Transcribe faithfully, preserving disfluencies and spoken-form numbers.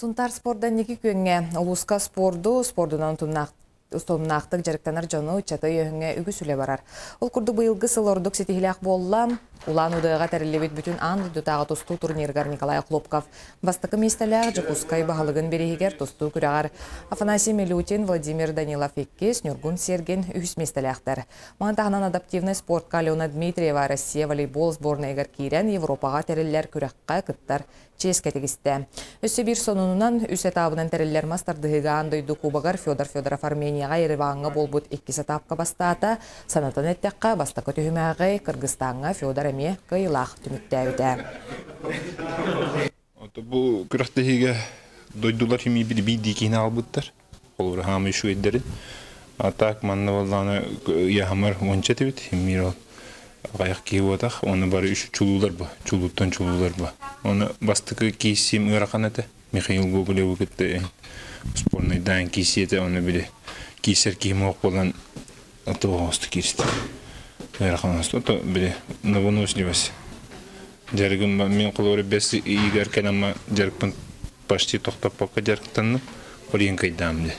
Сунтаар спорда инники күөҥҥэ. Улууска спорду, спордунан утумнаахтык дьарыктанар дьону, ыччаты өйөөһүҥҥэ үгүс үлэ барар. Ол курдук быйылгы сыл ордук ситиһиилээх буолла. Улаан Удэҕэ тэриллибит бүтүн аан дойдутааҕы тустуу турнирыгар Николай Охлопков бастакы миэстэлээх, Дьокуускай баһылыгын бирииһигэр тустуу күрэҕэр Афанасий Милютин, Владимир Данилов иккис, Ньургун Сергин үһүс миэстэлээхтэр. Маны таһынан адаптивнай спортка Алена Дмитриева Россия волейбол сборнайыгар киирэн Европаҕа тэриллэр күрэххэ кыттар чиэскэ тигистэ. Өссө биир сонунунан үс этабынан тэриллэр мас тардыһыыга аан дойду кубогар Федор Федоров Арменияҕа Ереваҥҥа буолбут иккис этапка бастаата. Санатан эттэххэ, бастакы түһүмэҕи Кыргызстаҥҥа Федор эмиэ кыайыылаах түмүктээбитэ. Бу күрэхтэһиигэ дойдулар химии биир киһини аҕалбыттар. Холобура хаамыы үчүгэйдэрин. А так манна буоллаҕына ыйааһымар уонча этибит. Химиир ол аҕыйах киһи буотах. Оны бары үч чулуулар бу. Чулууттан чулуулар бу. Оны бастакы кииссиим ыарахан этэ. Михаил Гоголеву кытта спорнайдаан кииссии этэ. Оны били кииссэр киһим суох буолан тоҕоосту кииристи. Ыарахан оҥосту. То били на выносливость. Дьарыгым мен холобура бэс ыйыгар кэлэммэ дьарыкпын почти тохтоппокко дьарыктанным. Ол иһин кыайдаам дии.